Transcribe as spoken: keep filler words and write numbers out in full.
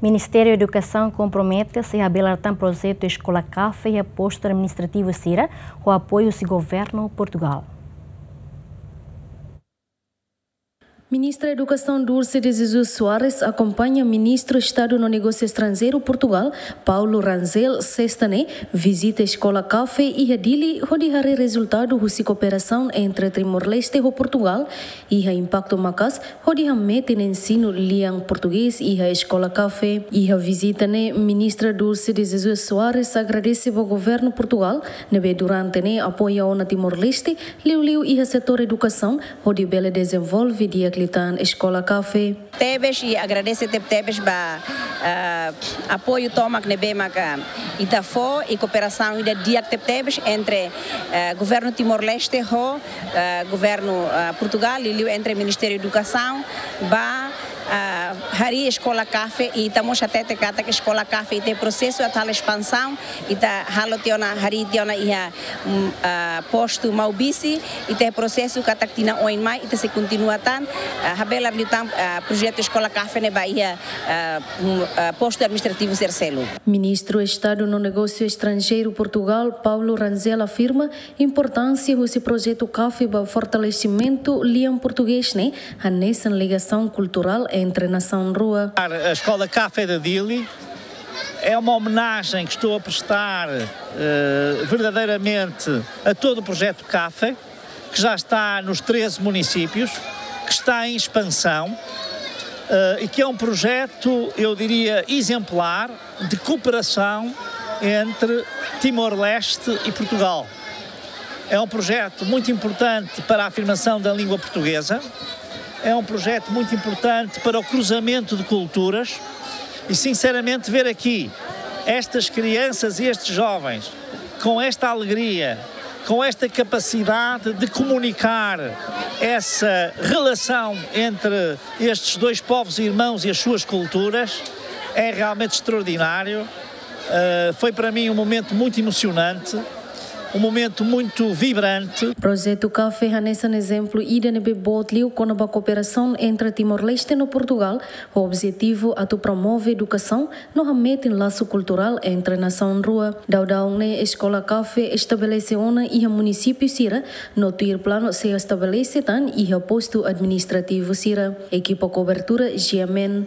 Ministériu Edukasaun kompromete sei habelar tan projetu Eskola Kafe iha postu administrativu sira, ho apoiu husi governu Portugal. Ministra Edukasaun Dulce de Jesus Soares akompaña Ministru Estadu no Negósiu Estranjeiru Portugal, Paulo Rangel, sesta ne'e, vizita Eskola Kafe iha Dili, hodi haree rezultadu husi kooperasaun entre Timor-Leste ho Portugal, iha impaktu maka'as, hodi hametin ensinu lian portugés iha Eskola Kafe. Iha vizita ne'e, Ministra Dulce de Jesus Soares agradese ba governu Portugal, ne'ebé durante ne'e apoia ona Timor-Leste, liuliu iha setór edukasaun, hodi bele dezenvolve di'ak liután Eskola Kafe. Tebes i agradese tebetebes ba, ah, apoiu tomak ne'ebé maka ita fó i kooperasaun ida di'ak tebetebes entre, ah, governu Timor-Leste ho, ah, governu, ah, Portugal, liuliu entre Ministériu Edukasaun, ba, ah, harii Eskola Kafe, i ita mós hatete katak Eskola Kafe ita iha prosesu atu halo espansaun, ita halo tiha ona, harii tiha ona iha, mm, ah, postu Maubisse, ita iha prosesu katak tinan oin mai, ita sei kontinua tan, ah, habelar liután, ah, projetu Eskola Kafe ne'e ba iha, ah, mm, ah, postu administrativu sira seluk. Ministru Estadu no Negósiu Estranjeiru Portugal, Paulo Rangel, afirma importánsia husi projetu Kafe ba fortalesimentu lian portugés ne'e, hanesan ligasaun kulturál entre nasaun rua. A Escola Café da Dili é uma homenagem que estou a prestar, eh, verdadeiramente a todo o projeto Café, que já está nos treze municípios, que está em expansão, eh, e que é um projeto, eu diria, exemplar de cooperação entre Timor-Leste e Portugal. É um projeto muito importante para a afirmação da língua portuguesa, é um projeto muito importante para o cruzamento de culturas e, sinceramente, ver aqui estas crianças e estes jovens com esta alegria, com esta capacidade de comunicar essa relação entre estes dois povos irmãos e as suas culturas, é realmente extraordinário. Eh, foi para mim um momento muito emocionante, um momento muito vibrante. Projetu Kafe hanesan ezemplu ida ne'ebé boot liu kona-ba kooperasaun entre Timor-Leste no Portugal, ho objetivu atu promove edukasaun no hametin lasu kulturál entre nasaun rua. Daudaun ne'e Eskola Kafe estabelese ona iha munisípiu sira, no tuir planu sei estabelese tan iha postu administrativu sira. Ekipa kobertura, G M N.